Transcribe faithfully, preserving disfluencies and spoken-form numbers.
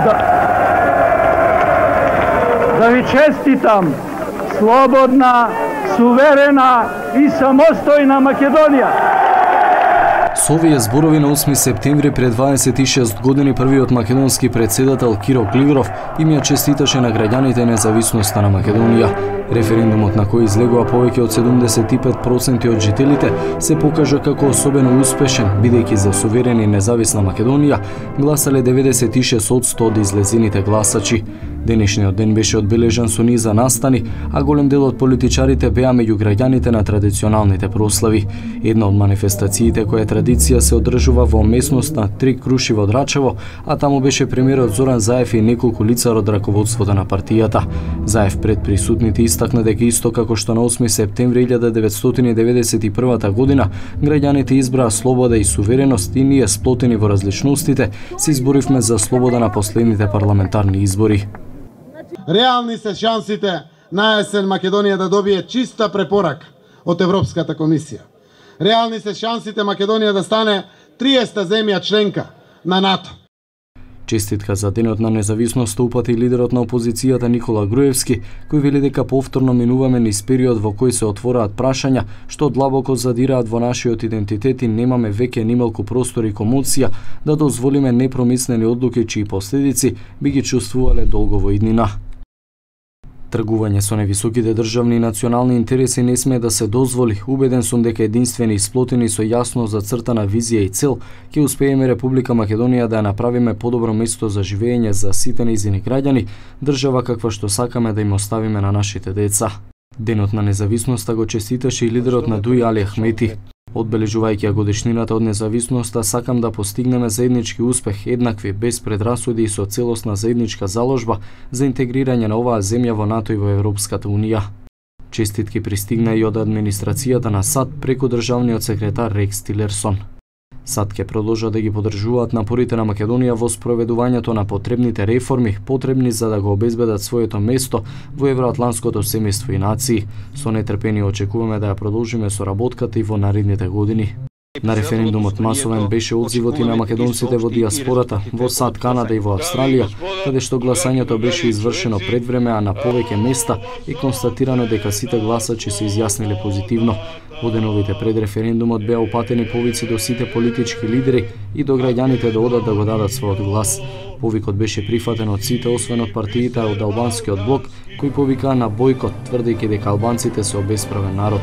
Да, да ви честитам слободна, суверена и самостојна Македонија. Со овие зборови на осми септември пред дваесет и шест години првиот македонски претседател Киро Клигров им ја честиташе на граѓаните независноста на Македонија. Референдумот на кој излегува повеќе од седумдесет и пет проценти од жителите се покажа како особено успешен, бидејќи за суверена и независна Македонија гласале деветдесет и шест одсто од излезените гласачи. Денешниот ден беше одбележан со низа настани, а голем дел од политичарите беа меѓу граѓаните на традиционалните прослави. Една од манифестациите која традиција се одржува во местноста Три круши во Драчево, а таму беше премиерот Зоран Заев и неколку лица од раководството на партијата. Заев пред присутните истакна дека исто како што на осми септември илјада деветстотини и деветдесет и прва година граѓаните избраа слобода и сувереност и ние сплотени во различностите се изборивме за слобода на последните парламентарни избори. Реални се шансите на есен Македонија да добие чиста препорака од Европската комисија. Реални се шансите Македонија да стане триесета земја членка на НАТО. Честитка за денот на независноста упати лидерот на опозицијата Никола Груевски, кој вели дека повторно минуваме низ период во кој се отвораат прашања што длабоко задираат во нашиот идентитет и немаме веќе нималку простор и комоција да дозволиме непромислени одлуки чии последици би ги чувствувале долго во иднина. Тргување со невисоките државни и национални интереси не смее да се дозволи. Убеден сум дека единствени и сплотени со јасно зацртана визија и цел ќе успееме Република Македонија да ја направиме подобро место за живење за сите нејзини граѓани, држава каква што сакаме да им оставиме на нашите деца. Денот на независноста го честиташе и лидерот на Дуи Али Ахмети. Одбележувајќи ја годишнината од независноста, сакам да постигнеме заеднички успех, еднакви, без предрасуди и со целосна заедничка заложба за интегрирање на оваа земја во НАТО и во Европската Унија. Честитки пристигна и од администрацијата на САД преку државниот секретар Рекс Тилерсон. САД ќе продолжат да ги поддржуваат напорите на Македонија во спроведувањето на потребните реформи, потребни за да го обезбедат своето место во евроатланското семејство и нации. Со нетрпение очекуваме да ја продолжиме соработката и во наредните години. На референдумот масовен беше одзивот и на македонците во диаспората, во САД, Канада и во Австралија, каде што гласањето беше извршено пред време, а на повеќе места е констатирано дека сите гласачи се изјасниле позитивно. Во деновите пред референдумот беа упатени повици до сите политички лидери и до граѓаните да одат да го дадат својот глас. Повикот беше прифатен од сите, освен од партиите од албанскиот блок, кои повикаа на бојкот, тврдејќи дека албанците се обесправен народ.